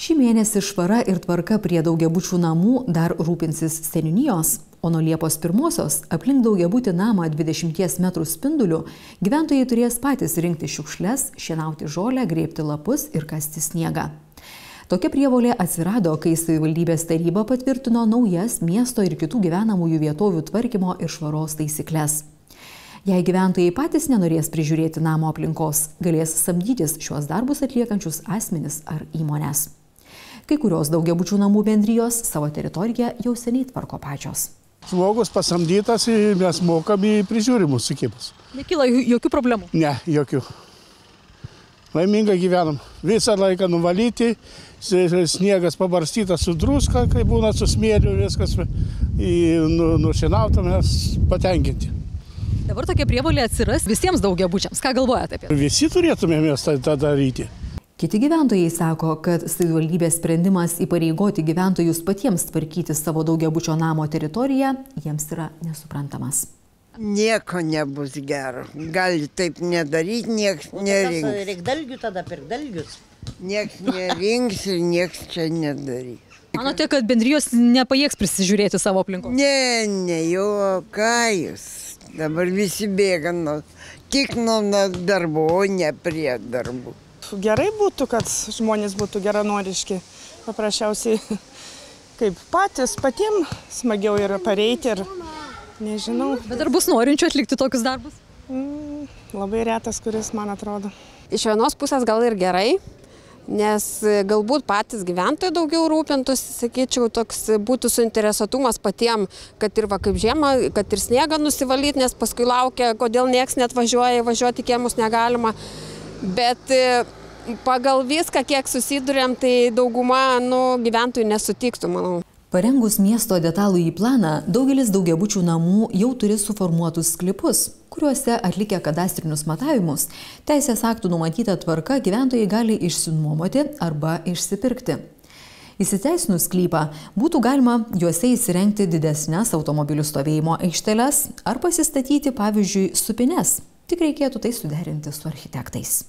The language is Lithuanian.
Šį mėnesį švara ir tvarka prie daugiabučių namų dar rūpinsis seniūnijos, o nuo Liepos 1-osios aplink daugiabutį namą 20 metrų spinduliu gyventojai turės patys rinkti šiukšles, šienauti žolę, grėbti lapus ir kasti sniegą. Tokia prievolė atsirado, kai savivaldybės taryba patvirtino naujas miesto ir kitų gyvenamųjų vietovių tvarkymo ir švaros taisykles. Jei gyventojai patys nenorės prižiūrėti namo aplinkos, galės samdytis šiuos darbus atliekančius asmenis ar įmones. Kai kurios daugiabučių namų bendrijos savo teritoriją jau seniai tvarko pačios. Žmogus pasamdytas ir mes mokami prižiūrimus sukimus. Nekyla jokių problemų? Ne, jokių. Laimingai gyvenam. Visą laiką nuvalyti, sniegas pabarstytas su druska, kai būna su smėliu, viskas nušienauta, mes patenkinti. Dabar tokia prievolė atsiras visiems daugiabučiams. Ką galvojate apie tai? Visi turėtumėme tą daryti. Kiti gyventojai sako, kad savivaldybės sprendimas įpareigoti gyventojus patiems tvarkyti savo daugiabučio namo teritoriją jiems yra nesuprantamas. Nieko nebus gero. Gali taip nedaryti, nieks nerinks. Reikia dalgių tada, pirk dalgius. Nieks nerinks ir nieks čia nedarys. Manote, kad bendrijos nepajėgs prisižiūrėti savo aplinkos? Ne, jo, ką jūs. Dabar visi bėga tik nuo darbų, o ne prie darbų. Gerai būtų, kad žmonės būtų geranoriški. Paprasčiausiai, kaip patiems smagiau yra pareiti ir nežinau. Bet ar bus norinčių atlikti tokius darbus? Labai retas, kuris man atrodo. Iš vienos pusės gal ir gerai, nes galbūt patys gyventojai daugiau rūpintųsi, sakyčiau, toks būtų suinteresuotumas patiems, kad ir kaip žiemą, kad ir sniegą nusivalyti, nes paskui laukia, kodėl nieks net važiuoti kiemus negalima. Bet pagal viską, kiek susidurėm, tai dauguma gyventojų nesutiktų, manau. Parengus miesto detalųjį planą, daugelis daugiabučių namų jau turi suformuotus sklypus, kuriuose atlikę kadastrinius matavimus, teisės aktų numatyta tvarka gyventojai gali išsinuomoti arba išsipirkti. Įsiteisinus sklypą būtų galima juose įsirengti didesnes automobilių stovėjimo aikšteles ar pasistatyti, pavyzdžiui, supines. Tik reikėtų tai suderinti su architektais.